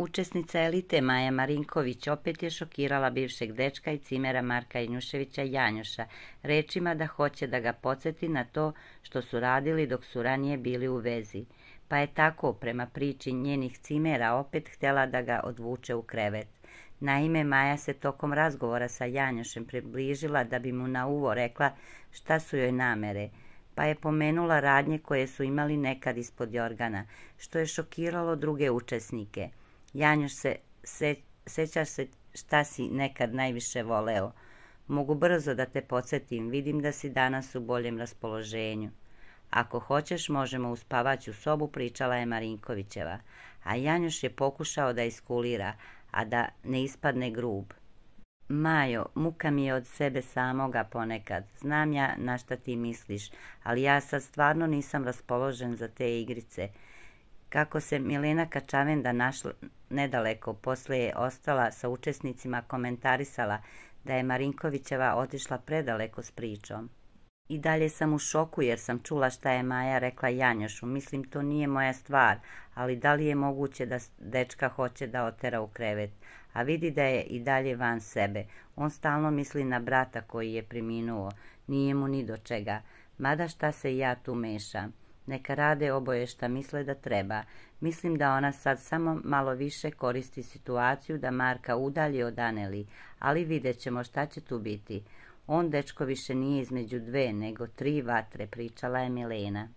Učesnica elite Maja Marinković opet je šokirala bivšeg dečka i cimera Marka Janjuševića Janjuša rečima da hoće da ga podsjeti na to što su radili dok su ranije bili u vezi. Pa je tako, prema priči njenih cimera, opet htjela da ga odvuče u krevet. Naime, Maja se tokom razgovora sa Janjušem približila da bi mu na uvo rekla šta su joj namere, pa je pomenula radnje koje su imali nekad ispod jorgana, što je šokiralo druge učesnike. Janjuš, sećaš se šta si nekad najviše voleo? Mogu brzo da te podsjetim, vidim da si danas u boljem raspoloženju. Ako hoćeš, možemo u spavaću sobu, pričala je Marinkovićeva, a Janjuš je pokušao da iskulira, a da ne ispadne grub. Majo, muka mi je od sebe samoga ponekad. Znam ja na šta ti misliš, ali ja sad stvarno nisam raspoložen za te igrice. Kako se Milena Kačavenda našla nedaleko, poslije je ostala sa učesnicima komentarisala da je Marinkovićeva otišla predaleko s pričom. I dalje sam u šoku jer sam čula šta je Maja rekla Janjušu. Mislim, to nije moja stvar, ali da li je moguće da dečka hoće da otera u krevet? A vidi da je i dalje van sebe. On stalno misli na brata koji je preminuo. Nije mu ni do čega. Mada šta se ja tu mešam? Neka rade oboje šta misle da treba. Mislim da ona sad samo malo više koristi situaciju da Marka udalji od Aneli, ali vidjet ćemo šta će tu biti. On, dečko, više nije između dve, nego 3 vatre, pričala je Milena.